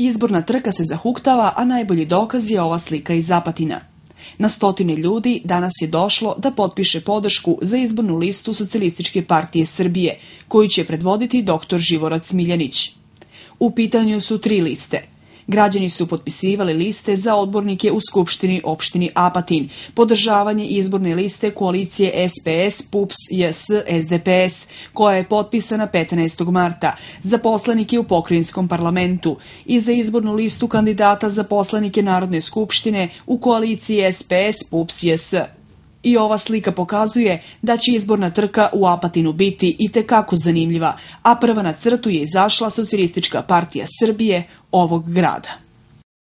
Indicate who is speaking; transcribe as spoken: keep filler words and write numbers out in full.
Speaker 1: Izborna trka se zahuktava, a najbolji dokaz je ova slika iz Apatina. Na stotine ljudi danas je došlo da potpiše podršku za izbornu listu Socijalističke partije Srbije, koju će predvoditi doktor Živorad Smiljanić. U pitanju su tri liste. Građani su potpisivali liste za odbornike u Skupštini opštini Apatin, podržavanje izborne liste koalicije S P S, P U P S, J S, S D P S, koja je potpisana petnaestog marta, za poslanike u pokrajinskom parlamentu i za izbornu listu kandidata za poslanike Narodne skupštine u koaliciji S P S, P U P S, J S. I ova slika pokazuje da će izborna trka u Apatinu biti itekako zanimljiva, a prva na crtu je izašla Socijalistička partija Srbije ovog grada.